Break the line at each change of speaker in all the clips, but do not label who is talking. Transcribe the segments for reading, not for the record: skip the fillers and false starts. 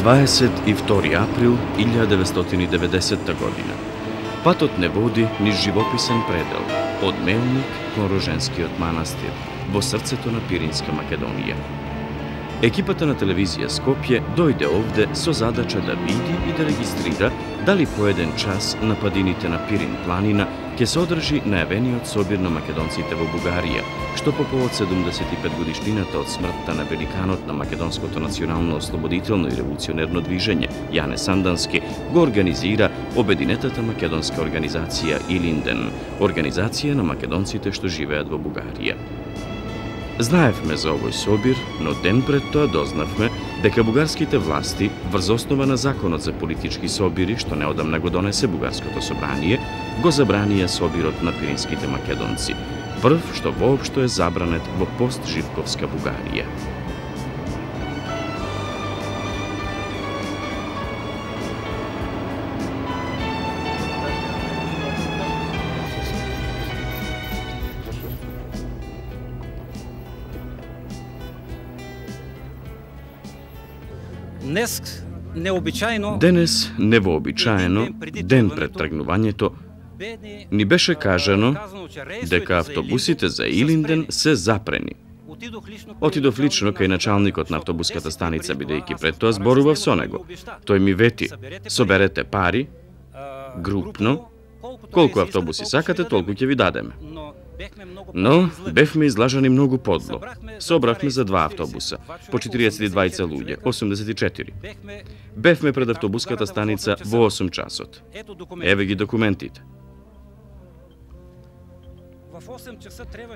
22 април 1990 година. Патот не води низ живописен предел, од Мелник кон Роженскиот манастир, во срцето на Пиринска Македонија. Екипата на телевизија Скопје дојде овде со задача да види и да регистрира дали по еден час на падините на Пирин планина ќе се одржи најавениот собир на македонците во Бугарија, што по повод 75 годишнината од смртта на великанот на македонското национално ослободително и револуционерно движење Јане Сандански го организира обединетата македонска организација Илинден, организација на македонците што живеат во Бугарија. Знаевме за овој собир, но ден пред тоа дознавме дека бугарските власти, врз основа на законот за политички собири, што неодамна го донесе Бугарското собрание, го забранија собирот на пиринските македонци, прв што воопшто е забранет во постживковска Бугарија. Денес, невообичаено, ден пред тргнувањето, ни беше кажано дека автобусите за Илинден се запрени. Отидов лично кај началникот на автобуската станица, бидејќи пред тоа зборував со него. Тој ми вети: соберете пари, групно, колку автобуси сакате, толку ќе ви дадеме. Но бевме излажани многу подло. Собравме за 2 автобуса, по 42 луѓе, 84. Бевме пред автобуската станица во 8 часот. Еве ги документите.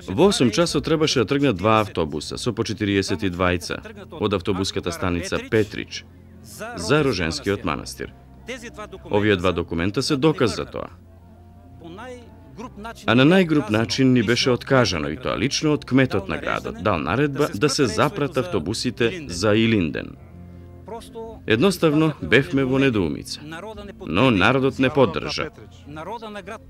Во 8 часот требаше да тргнат 2 автобуса со по 42 од автобуската станица Петрич за Роженскиот манастир. Овие 2 документа се доказ за тоа. А на најгруп начин ни беше откажано, и тоа лично од кметот на градот, дал наредба да се запрат автобусите за Илинден. Едноставно бевме во недоумица, но народот не поддржа.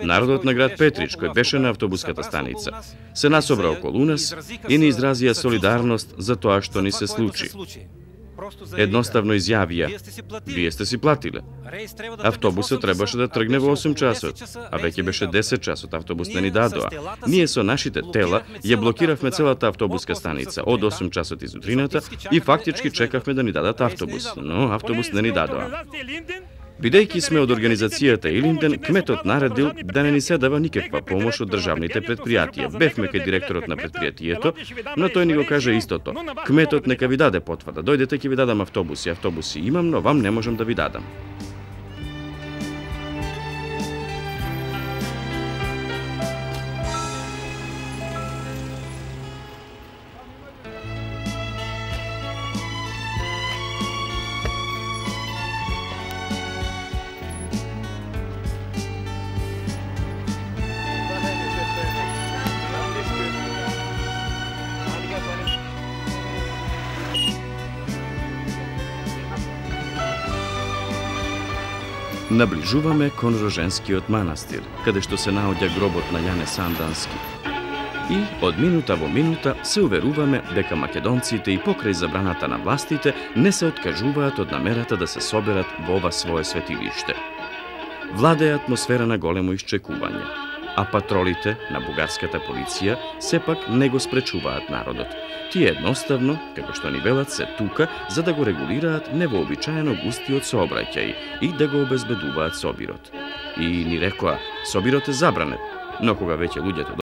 Народот на град Петрич, кој беше на автобуската станица, се насобра околу нас и ни изразија солидарност за тоа што ни се случи. Едноставно изјавија: вие сте си платиле. Автобусот требаше да тргне во 8 часот, а веќе беше 10 часот, автобус не ни дадоа. Ние со нашите тела ја блокиравме целата автобуска станица од 8 часот изутрината и фактички чекавме да ни дадат автобус, но автобус не ни дадоа. Бидејќи сме од организацијата Илинден, кметот наредил да не ни се дава никаква помош од државните предпријатија. Бевме кај директорот на предпријатието, но тој ни го каже истото: кметот нека ви даде потврда, дојдете ќе ви дадам автобуси. Автобуси имам, но вам не можам да ви дадам. Наближуваме кон Роженскиот манастир, каде што се наоѓа гробот на Јане Сандански. И од минута во минута се уверуваме дека македонците и покрај забраната на властите не се откажуваат од намерата да се соберат во ова свое светилиште. Владее атмосфера на големо исчекување, а патролите на бугарската полиција сепак не го спречуваат народот. Тие едноставно, како што ни велат, се тука за да го регулираат невообичаено густиот сообраќај и да го обезбедуваат собирот. И ни рекоа: собирот е забранет, но кога веќе луѓето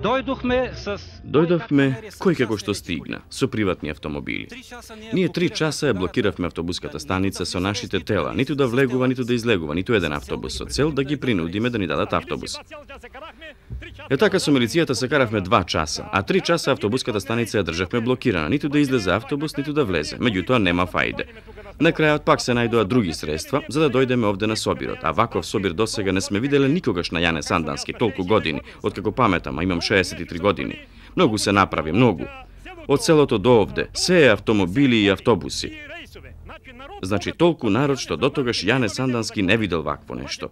Дојдовме кој како што стигна, со приватни автомобили. Ние 3 часа ја блокиравме автобуската станица со нашите тела, ниту да влегува, ниту да излегува, ниту еден автобус, со цел да ги принудиме да ни дадат автобус. Е така со милицијата се каравме 2 часа, а 3 часа автобуската станица ја државме блокирана, ниту да излезе автобус, ниту да влезе. Меѓутоа нема фајде. На крајот пак се најдоа други средства за да дојдеме овде на собирот, а ваков собир досега не сме виделе никогаш на Јане Сандански толку години, откако паметам, а имам 63 години. Многу се направи, многу. Од селото до овде, се е автомобили и автобуси. Значи толку народ што дотогаш Јане Сандански не видел вакво нешто.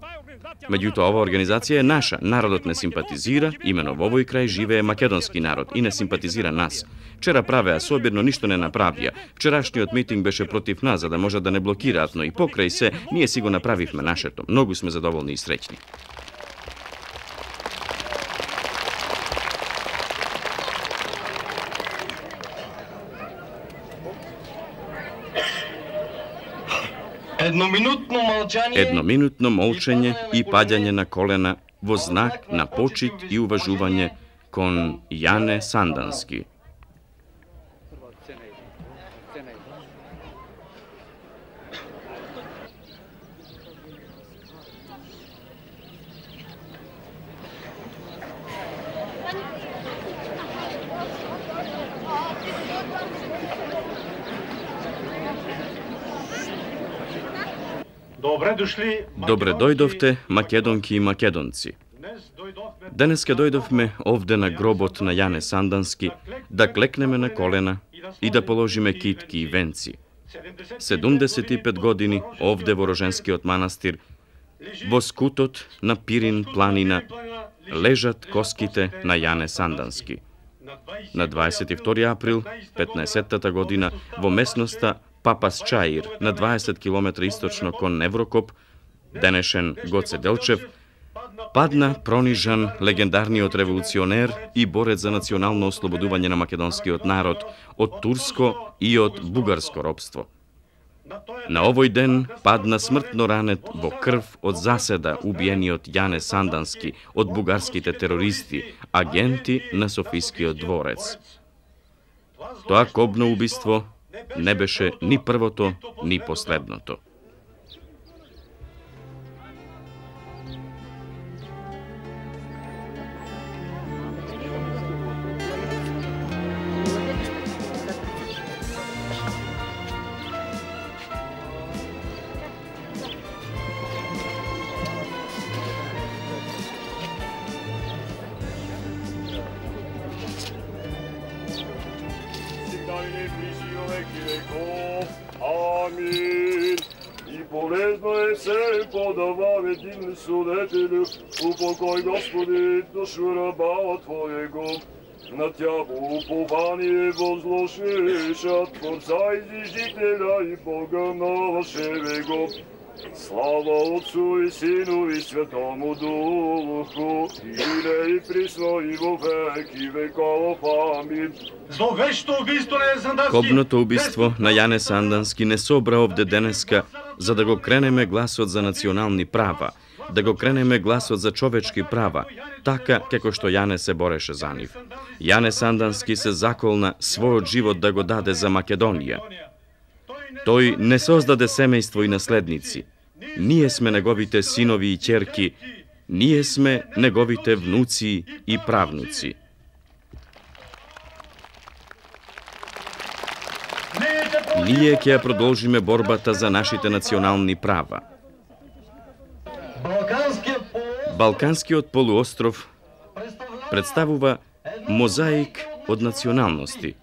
Меѓутоа, ова организација е наша, народот не симпатизира, имено во овој крај живее македонски народ и не симпатизира нас. Вчера правеа собир, но ништо не направија. Вчерашниот митинг беше против нас, за да можат да не блокираат, но и покрај се, ние си го направивме нашето. Многу сме задоволни и среќни. Едноминутно молчење и паѓање на колена во знак на почит и уважување кон Јане Сандански. Добре дојдовте, македонки и македонци. Денеска дојдовме овде на гробот на Јане Сандански да клекнеме на колена и да положиме китки и венци. 75 години овде во Роженскиот манастир, во скутот на Пирин планина, лежат коските на Јане Сандански. На 22 април 15-та година во местноста Папас Чаир, на 20 км источно кон Неврокоп, денешен Гоце Делчев, падна пронижан легендарниот револуционер и борец за национално ослободување на македонскиот народ од турско и од бугарско робство. На овој ден падна смртно ранет во крв од заседа убиениот Јане Сандански од бугарските терористи, агенти на Софискиот дворец. Тоа кобно убиство не беше ни првото, ни последното.
Амин. И полезно е се подаваме ти судетелю, упокој Господи душу раба Твоего. На Тјабо упование возложиша, Творца изижителя и Бога нашего. Слава Отцу и Сину и Светому Духу, и присно и во веки веков. Амин.
Кобното убиство на Јане Сандански не собра овде денеска за да го кренеме гласот за национални права, да го кренеме гласот за човечки права, така како што Јане се бореше за нив. Јане Сандански се заколна својот живот да го даде за Македонија. Тој не создаде семејство и наследници. Ние сме неговите синови и ќерки, ние сме неговите внуци и правнуци. Ние ќе ја продолжиме борбата за нашите национални права. Балканскиот полуостров представува мозаик од националности,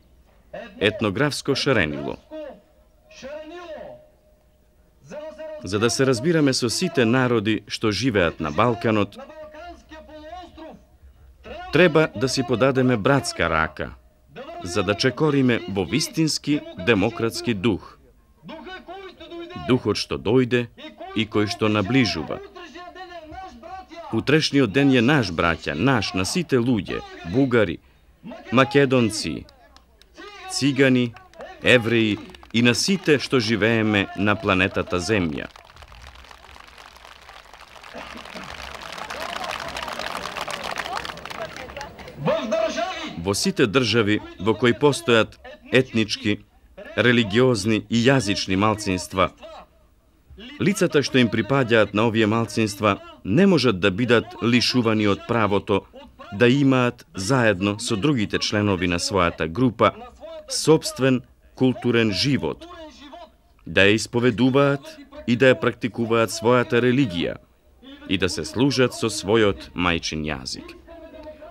етнографско шаренило. За да се разбираме со сите народи што живеат на Балканот, треба да си подадеме братска рака, за да чекориме во вистински демократски дух. Духот што дојде и кој што наближува. Утрешниот ден е наш, браќа, наш, на сите луѓе, бугари, македонци, цигани, евреи и на сите што живееме на планетата Земја. Во сите држави во кои постојат етнички, религиозни и јазични малцинства, лицата што им припаѓаат на овие малцинства не можат да бидат лишувани од правото да имаат заедно со другите членови на својата група сопствен културен живот, да ја исповедуваат и да ја практикуваат својата религија и да се служат со својот мајчин јазик.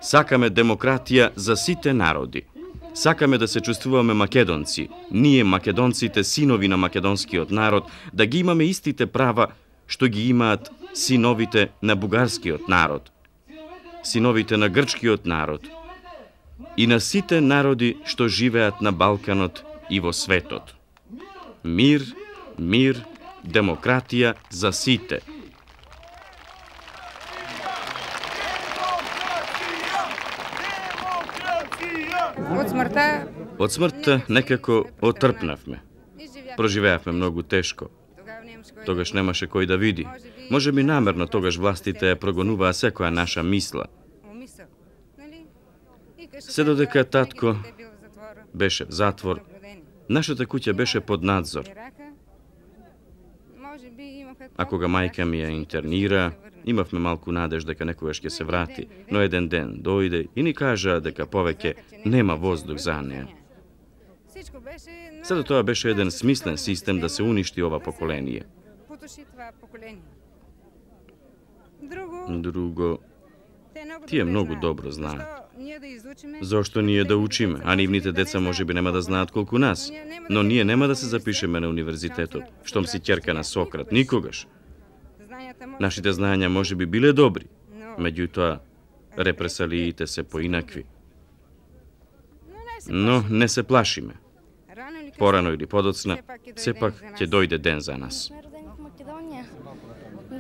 Сакаме демократија за сите народи. Сакаме да се чувствуваме македонци, ние македонците, синови на македонскиот народ, да ги имаме истите права што ги имаат синовите на бугарскиот народ, синовите на грчкиот народ и на сите народи што живеат на Балканот и во светот. Мир, мир, демократија за сите. Од смртта некако отрпнавме. Проживеавме многу тешко. Тогаш немаше кој да види. Може би намерно тогаш властите ја прогонуваа секоја наша мисла. Се додека татко беше в затвор, нашата куќа беше под надзор. А кога мајка ми ја интернира, имавме малку надеж дека некогаш ќе се врати, но еден ден дојде и ни кажа дека повеќе нема воздух за неа. Сето тоа беше еден смислен систем да се уништи ова поколение. Друго, тие многу добро знаат. Зошто ние да учиме, а нивните деца можеби нема да знаат колку нас, но ние нема да се запишеме на универзитетот, штом си ќерка на Сократ, никогаш. Нашите знаења можеби биле добри, меѓутоа репресалиите се поинакви. Но не се плашиме. Порано или подоцна, сепак ќе дојде ден за нас.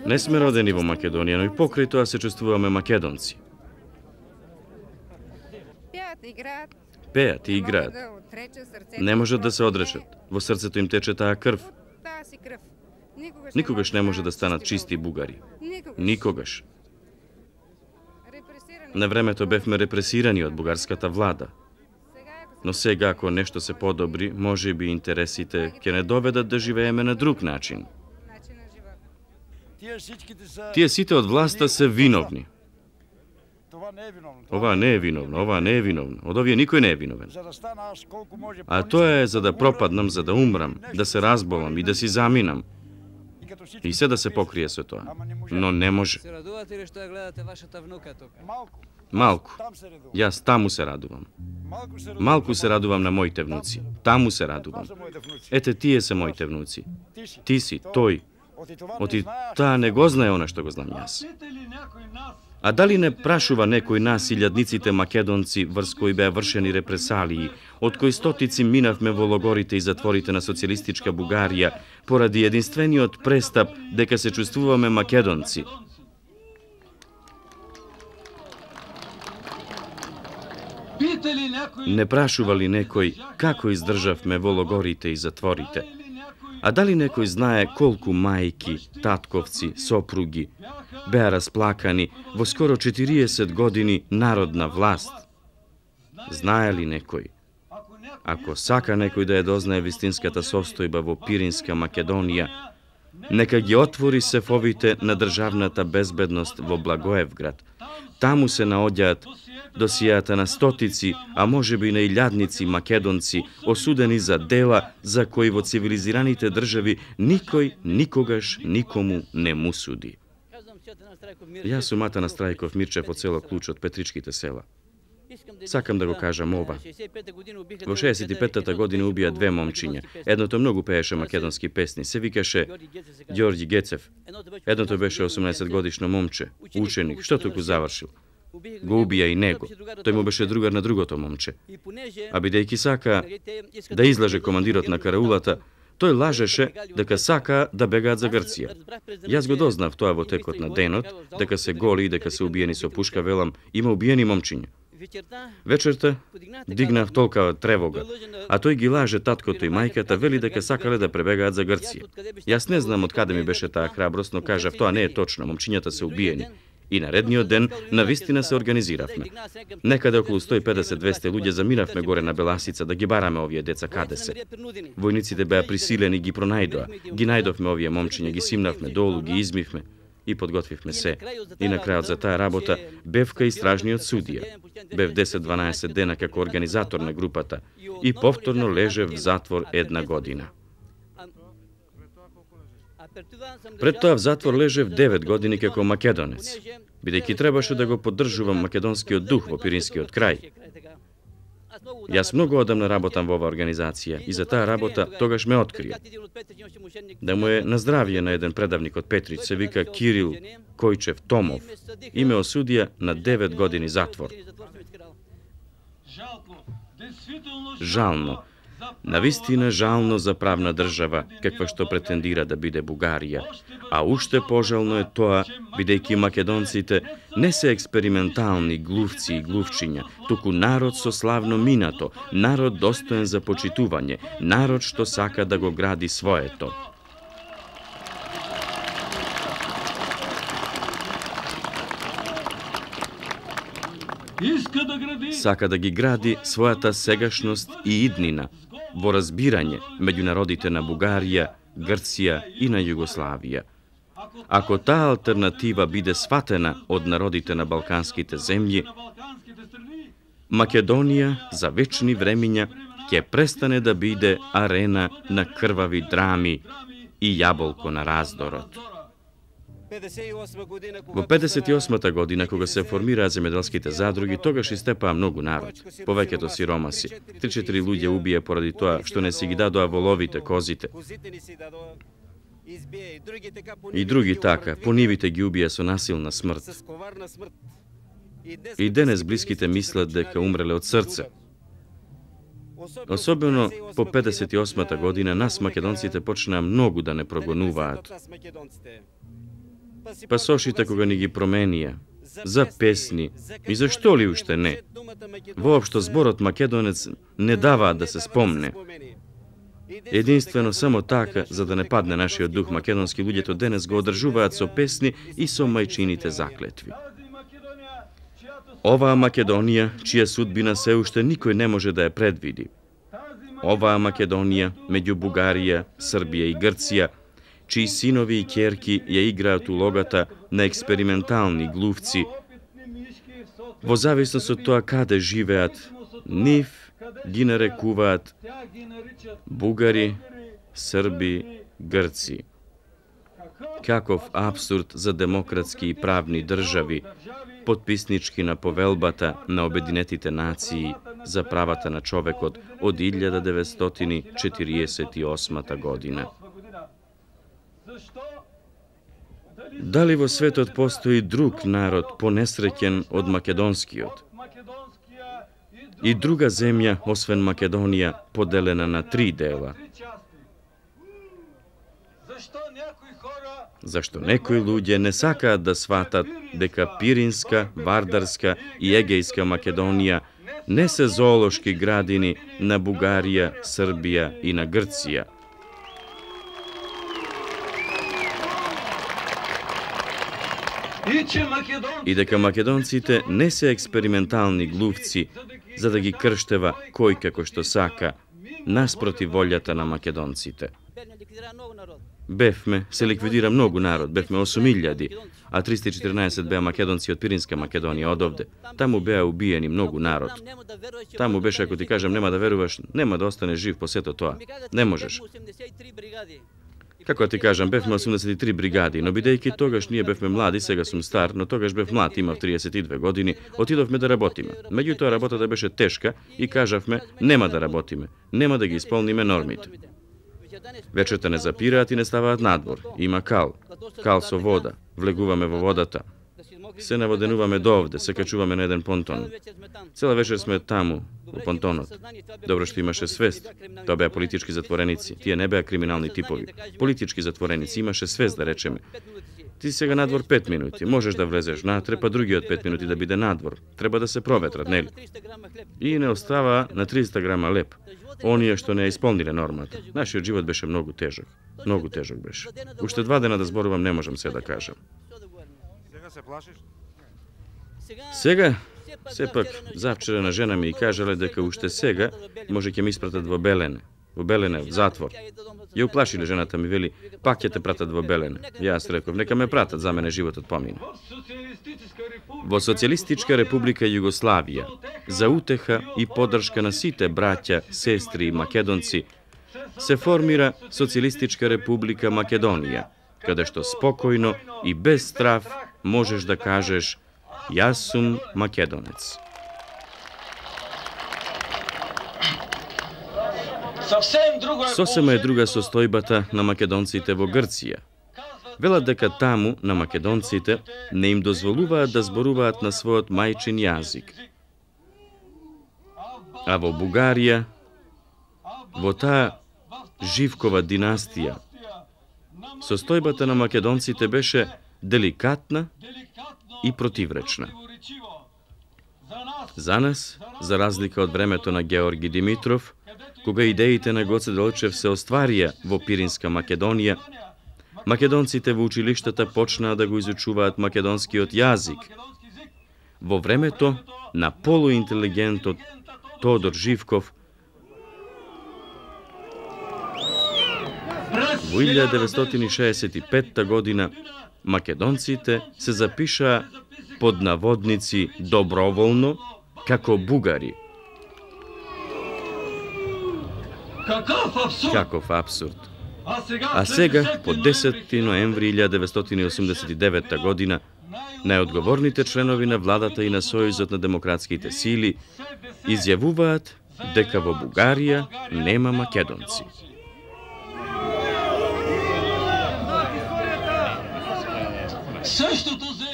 Не сме родени во Македонија, но и покрај тоа се чувствуваме македонци. Пеат и играат. Не можат да се одречат. Во срцето им тече таа крв. Никогаш не може да станат чисти бугари. Никогаш. На времето бевме репресирани од бугарската влада. Но сега, ако нешто се подобри, може би интересите ќе не доведат да живееме на друг начин. Тие сите од власта се виновни. Ова не е виновно, ова не е виновно. Од овие никој не е виновен. А тоа е за да пропаднам, за да умрам, да се разболам и да си заминам. И се да се покрие со тоа. Но не може. Малку. Јас таму се радувам. Малку се радувам на моите внуци. Таму се радувам. Ете, тие се моите внуци. Ти си, тој. Оти таа не го знае она што го знам јас. А дали не прашува некој нас илјадниците македонци врз кои беа вршени репресалии, од кои стотици минавме во логорите и затворите на социјалистичка Бугарија, поради единствениот престап дека се чувствуваме македонци? Не прашува ли некој како издржавме во логорите и затворите? А дали некој знае колку мајки, татковци, сопруги беа расплакани во скоро 40 години народна власт? Знае ли некој? Ако сака некој да ја дознае вистинската состојба во Пиринска Македонија, нека ги отвори сефовите на државната безбедност во Благоевград. Таму се наоѓаат досијата на стотици, а можеби на илјадници македонци, осудени за дела за кои во цивилизираните држави никој никогаш никому не му суди. Јас сум Атанас Трајков Мирчев од село Клуч од Петричките села. Сакам да го кажам ова. Во 65-та година убија две момчиња. Едното многу пееше македонски песни, се викаше Ѓорѓи Гецев. Едното беше 18 годишно момче, ученик, што току завршил. Го убија и него. Тој му беше другар на другото момче. А бидејќи сака да излаже командирот на караулата, тој лажеше дека сака да бегаат за Грција. Јас го дознав тоа во текот на денот, дека се голи и дека се убиени со пушка, велам, има убиени момчиња. Вечерта дигнав толкава тревога, а тој ги лаже таткото и мајката, вели дека сакале да пребегаат за Грција. Јас не знам од каде ми беше таа храброст, но кажав, тоа не е точно, момчињата се убиени. И наредниот ден навистина се организиравме. Некаде околу 150-200 луѓе замиравме горе на Беласица да ги бараме овие деца каде се. Војниците беа присилени, ги пронајдоа. Ги најдовме овие момчиња, ги симнавме долу, ги измивме и подготвивме се. И на крајот за таа работа бевка и стражниот судија. Бев 10-12 дена како организатор на групата и повторно лежев в затвор 1 година. Пред тоа в затвор лежев 9 години како македонец, бидејќи требаше да го поддржувам македонскиот дух во Пиринскиот крај. Јас многу одамна работам во оваа организација и за таа работа тогаш ме открија. Да му е на здравје на еден предавник од Петрич, се вика Кирил Којчев Томов, и ме осудија на 9 години затвор. Жално. Навистина жално за правна држава, каква што претендира да биде Бугарија, а уште пожално е тоа, бидејќи македонците не се експериментални глувци и глувчиња, туку народ со славно минато, народ достоен за почитување, народ што сака да го гради своето. Сака да ги гради својата сегашност и иднина, во разбирање меѓу народите на Бугарија, Грција и на Југославија. Ако таа алтернатива биде сватена од народите на балканските земји, Македонија за вечни времиња ќе престане да биде арена на крвави драми и јаболко на раздорот. Во 58-та година, кога се формираат земјоделските задруги, тогаш истепаа многу народ, повеќето сиромаси. 3-4 луѓе убија поради тоа што не си ги дадоа воловите, козите. И други така, по нивите ги убија со насилна смрт. И денес блиските мислат дека умреле од срце. Особено по 58-та година нас македонците почнаа многу да не прогонуваат. Пасошите кога ни ги променија, за песни и за што ли уште не. Воопшто зборот македонец не даваа да се спомне. Единствено само така, за да не падне нашиот дух македонски, луѓето денес го одржуваат со песни и со мајчините заклетви. Оваа Македонија, чија судбина се уште никој не може да ја предвиди. Оваа Македонија, меѓу Бугарија, Србија и Грција, чии синови и ќерки ја играат улогата на експериментални глувци, во зависност од тоа каде живеат, нив ги нарекуваат бугари, срби, грци. Каков абсурд за демократски и правни држави, потписнички на повелбата на Обединетите нации за правата на човекот од 1948 година. Дали во светот постои друг народ понесреќен од македонскиот? И друга земја, освен Македонија, поделена на 3 дела? Зашто некои луѓе не сакаат да сватат дека Пиринска, Вардарска и Егејска Македонија не се зоолошки градини на Бугарија, Србија и на Грција? И дека македонците не се експериментални глувци за да ги крштева кој како што сака, наспроти волјата на македонците. Бевме, се ликвидира многу народ, бевме 8.000, а 314 беа македонци од Пиринска Македонија од овде. Таму беа убиени многу народ. Таму беше, ако ти кажам, нема да веруваш, нема да останеш жив по сето тоа. Не можеш. Како ти кажам, бевме 83 бригади, но бидејќи тогаш ние бевме млади, сега сум стар, но тогаш бев млад, имав 32 години, отидовме да работиме. Меѓутоа работата беше тешка и кажавме, нема да работиме, нема да ги исполниме нормите. Вечерта не запираат и не ставаат надвор. Има кал со вода, влегуваме во водата. Се наводенуваме до овде, се качуваме на еден понтон. Цела вечер сме таму, во понтонот. Добро што имаше свест. Тоа беа политички затвореници. Тие не беа криминални типови. Политички затвореници. Имаше свест, да речеме. Ти сега надвор 5 минути. Можеш да влезеш натре, па другиот 5 минути да биде надвор. Треба да се проветрат, нели? И не остава на 300 грама леп. Оние што не исполниле нормата. Нашиот живот беше многу тежок. Многу тежок беше. Уште 2 дена да зборувам не можам се да кажам.
Сега се плашиш?
Сега, сепак, завчерена жена ми кажале дека уште сега може ќе ме испратат во Белене, во затвор. Ја уплашиле жената ми, вели, пак ќе те пратат во Белене. Јас реков, нека ме пратат, за мене животот помина. Во Социјалистичка република Југославија, за утеха и поддршка на сите браќа, сестри и македонци, се формира Социјалистичка република Македонија, каде што спокојно и без страв можеш да кажеш јас сум македонец. Сосема е друга состојбата на македонците во Грција. Велат дека таму, на македонците, не им дозволуваат да зборуваат на својот мајчин јазик. А во Бугарија, во таа Живкова династија, состојбата на македонците беше деликатна и противречна. За нас, за разлика од времето на Георги Димитров, кога идеите на Гоце Делчев се остварија во Пиринска Македонија, македонците во училиштата почнаа да го изучуваат македонскиот јазик. Во времето на полуинтелигентот Тодор Живков, во 1965 година македонците се запишаа под наводници доброволно како бугари. Каков абсурд! А сега, по 10 ноември 1989 година, најодговорните членови на владата и на Сојузот на демократските сили изјавуваат дека во Бугарија нема македонци.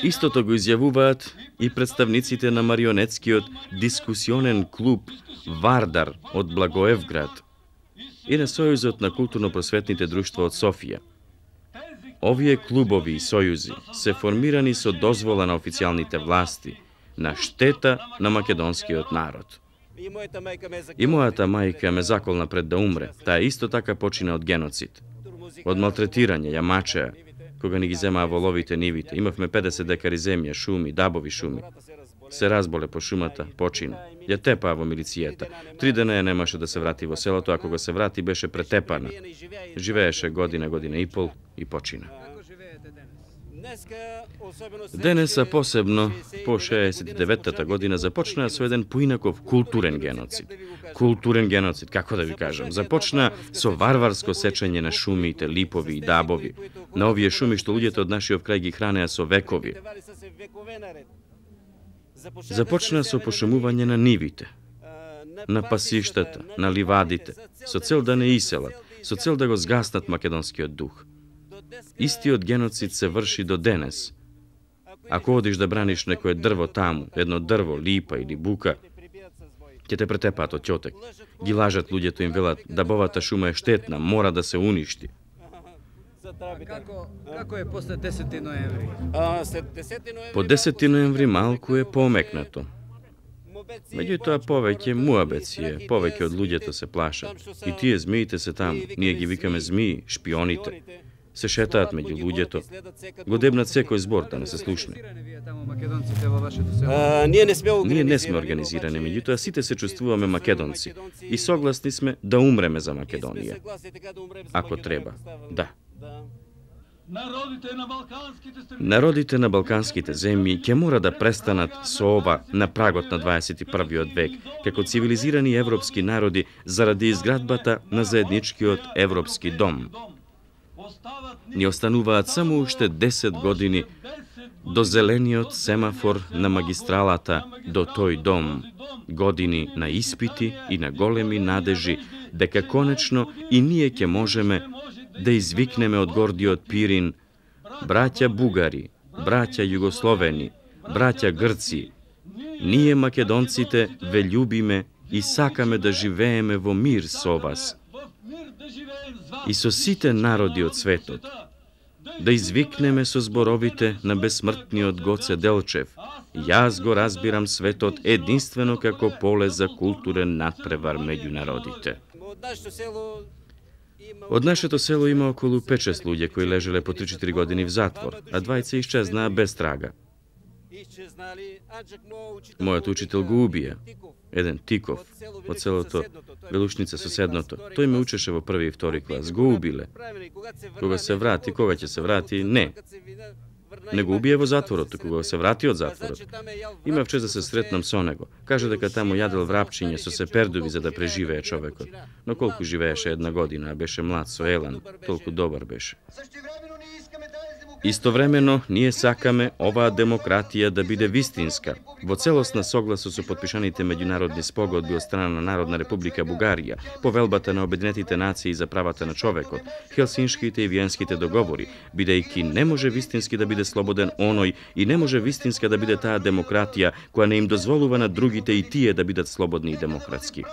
Истото го изјавуваат и представниците на марионетскиот дискусионен клуб Вардар од Благоевград и на Сојузот на културно-просветните друштва од Софија. Овие клубови и сојузи се формирани со дозвола на официјалните власти, на штета на македонскиот народ. И мојата мајка ме заколна пред да умре, таа исто така почина од геноцид. Од малтретирање, ја мачеа, кога ни ги земаа воловите нивите. Имавме 50 декари земја, шуми, дабови шуми. Се разболе по шумата, почина. Ја тепаа во милицијата. 3 дена ја немаше да се врати во селото, а кога се врати беше претепана. Живееше година и пол и почина. Денес, а посебно по 69-та година, започнаа со еден поинаков културен геноцид. Културен геноцид, како да ви кажам, започна со варварско сечење на шумите, липови и дабови, на овие шуми што луѓето од нашиот крај ги хранеа со векови. Започна со пошумување на нивите, на пасиштата, на ливадите, со цел да не иселат, со цел да го згаснат македонскиот дух. Истиот геноцид се врши до денес. Ако одиш да браниш некое дрво таму, едно дрво, липа или бука, ќе те претепаат од ќотек. Ги лажат луѓето, им велат дабовата шума е штетна, мора да се уништи.
Како е после 10 ноември?
По 10 ноември малку е помекнато. Меѓутоа повеќе муабеци е, повеќе од луѓето се плашат. И тие змиите се таму, ние ги викаме змии, шпионите. Се шетаат меѓу луѓето, го дебнат секој збор да не се слушне. Ние не сме организирани, меѓутоа сите се чувствуваме македонци и согласни сме да умреме за Македонија. Ако треба, да. Народите на балканските земји ќе мора да престанат со ова на прагот на 21. век, како цивилизирани европски народи заради изградбата на заедничкиот европски дом. Ни остануваат само уште 10 години до зелениот семафор на магистралата до тој дом, години на испити и на големи надежи дека конечно и ние ќе можеме да извикнеме од гордиот Пирин: браќа бугари, браќа југословени, браќа грци, ние македонците ве љубиме и сакаме да живееме во мир со вас и со сите народи од светот, да извикнеме со зборовите на бесмртниот Гоце Делчев: јас го разбирам светот единствено како поле за културен надпревар меѓу народите. Од нашето село има околу 5-6 луѓе кои лежеле по 3-4 години в затвор, а 20 исчезнаа без трага. Мојот учител го убија, еден Тиков, од селото Белушница соседното. Тој ме учеше во први и втори клас. Го убиле. Кога се врати, кога ќе се врати, не. Не го убие во затворот, кога се врати од затворот. Имав чест да се сретнам со него. Кажа дека таму јадел врапчиње со сепердови за да преживее човекот. Но колку живееше една година, а беше млад со елан, толку добар беше. Истовремено, ние сакаме оваа демократија да биде вистинска, во целосна согласо со потпишаните меѓународни спогодби од страна на Народна република Бугарија, повелбата на Обединетите нации за правата на човекот, Хелсиншките и Виенските договори, бидејќи не може вистински да биде слободен оној и не може вистинска да биде таа демократија која не им дозволува на другите и тие да бидат слободни и демократски.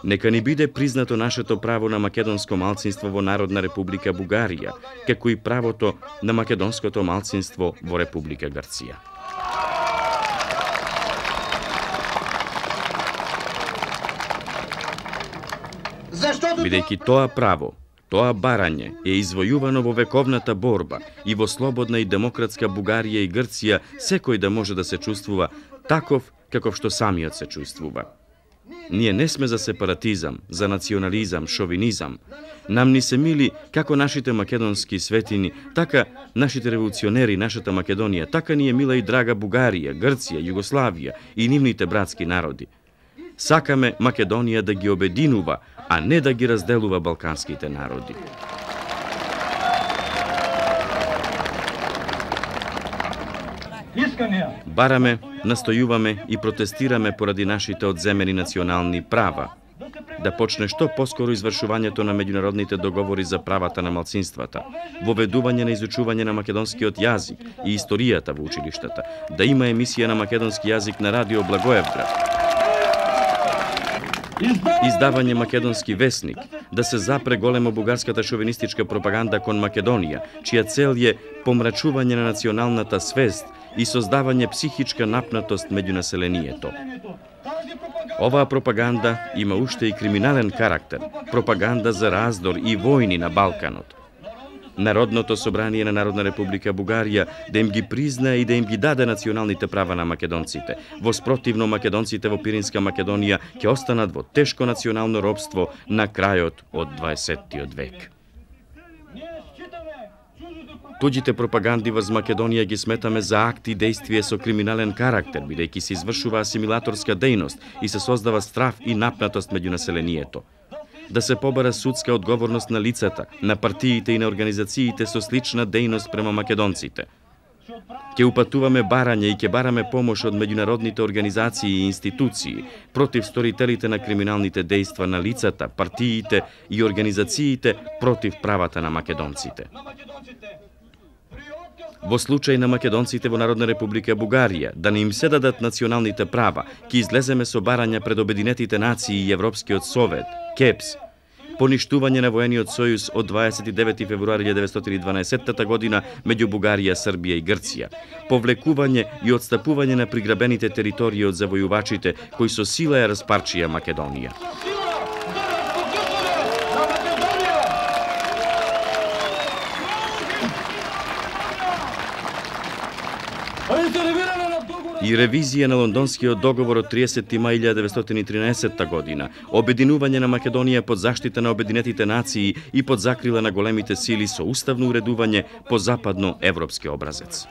Нека ни биде признато нашето право на македонско малцинство во Народна република Бугарија, како и правото на македонското малцинство во Република Грција. Бидејќи тоа право, тоа барање е извојувано во вековната борба и во слободна и демократска Бугарија и Грција секој да може да се чувствува таков каков што самиот се чувствува. Ние не сме за сепаратизам, за национализам, шовинизам. Нам ни се мили како нашите македонски светини, така нашите револуционери, нашата Македонија, така ни е мила и драга Бугарија, Грција, Југославија и нивните братски народи. Сакаме Македонија да ги обединува, а не да ги разделува балканските народи. Бараме, настојуваме и протестираме поради нашите одземени национални права, да почне што поскоро извршувањето на меѓународните договори за правата на малцинствата, воведување на изучување на македонскиот јазик и историјата во училиштата, да има емисија на македонски јазик на радио Благоевград, издавање македонски весник, да се запре големо бугарската шовинистичка пропаганда кон Македонија, чија цел е помрачување на националната свест и создавање психичка напнатост меѓу населението. Оваа пропаганда има уште и криминален карактер, пропаганда за раздор и војни на Балканот. Народното собрание на Народна република Бугарија да им ги признае и да им ги даде националните права на македонците. Во спротивно, македонците во Пиринска Македонија ќе останат во тешко национално робство на крајот од 20-тиот век. Туѓите пропаганди врз Македонија ги сметаме за акти и действие со криминален карактер, бидејќи се извршува асимилаторска дејност и се создава страв и напнатост меѓу населението. Да се побара судска одговорност на лицата, на партиите и на организациите со слична дејност према македонците. Ќе упатуваме барање и ќе бараме помош од меѓународните организации и институции против сторителите на криминалните дејства на лицата, партиите и организациите против правата на македонците. Во случај на македонците во Народна република Бугарија да не им се дадат националните права, ќе излеземе со барања пред Обединетите нации и Европскиот совет, КЕПС, поништување на воениот сојуз од 29 февруари 1912 година меѓу Бугарија, Србија и Грција, повлекување и отстапување на приграбените територии од завојувачите кои со сила ја распарчија Македонија. И ревизија на Лондонскиот договор од 30. мај 1913 година, обединување на Македонија под заштита на Обединетите нации и под закрила на големите сили со уставно уредување по западно-европски образец.